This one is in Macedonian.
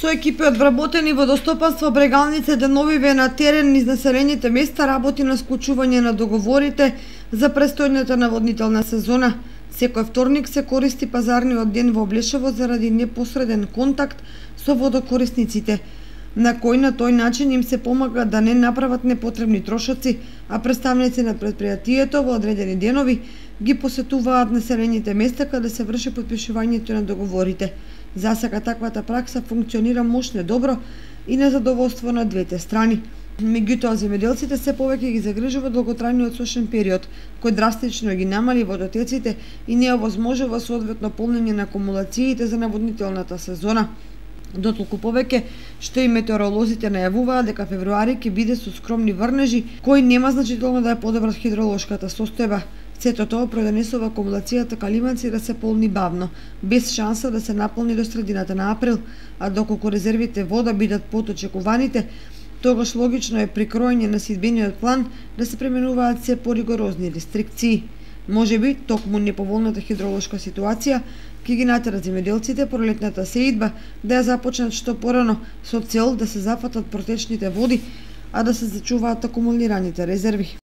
Со екипи од вработени водостопанство Брегалница деновиве на терен низ населените места работи на склучување на договорите за престојната наводнителна сезона. Секој вторник се користи пазарниот ден во Облешево заради непосреден контакт со водокорисниците, на тој начин им се помага да не направат непотребни трошоци, а представници на претпријатието во одредени денови ги посетуваат населените места каде се врши потпишувањето на договорите. За сега таквата пракса функционира мощно добро и на задоволство на двете страни. Меѓутоа, земјоделците се повеќе ги загрижува долготрајниот сушен период, кој драстично ги намали водотеците и не овозможува соодветно полнење на акумулациите за наводнителната сезона. Дотолку повеќе што и метеоролозите најавуваат дека февруари ќе биде со скромни врнежи, кои нема значително да ја подобрат хидролошката состојба. Сето тоа продонесува акумулацијата калиманци да се полни бавно, без шанса да се наполни до средината на април, а доколку резервите вода бидат под очекуваните, тогаш логично е при кроење на сидбениот план да се применуваат се поригорозни рестрикции. Можеби, токму неповолната хидролошка ситуација ќе ги натера земјоделците пролетната сеидба да ја започнат што порано со цел да се зафатат протечните води, а да се зачуваат акумулираните резерви.